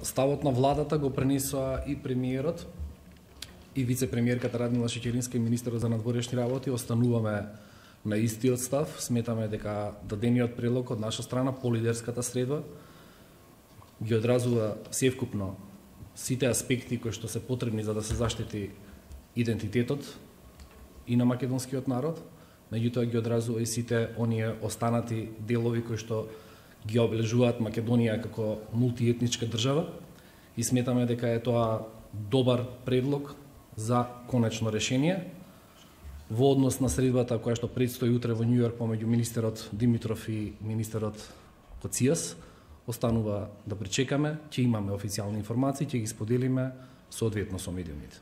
Ставот на владата го пренесоа и премиерот и вице-премиерката Радмила Шеќеринска и министерот за надворешни работи. Остануваме на истиот став. Сметаме дека дадениот предлог од наша страна по лидерската средба ги одразува севкупно сите аспекти кои што се потребни за да се заштити идентитетот и на македонскиот народ, меѓутоа ги одразува и сите оние останати делови кои што ги обележуваат Македонија како мултиетничка држава и сметаме дека е тоа добар предлог за конечно решение во однос на средбата која што предстои утре во Њујорк помеѓу министерот Димитров и министерот Коцијас. Останува да пречекаме, ќе имаме официјални информации, ќе ги споделиме соодветно со медиумите.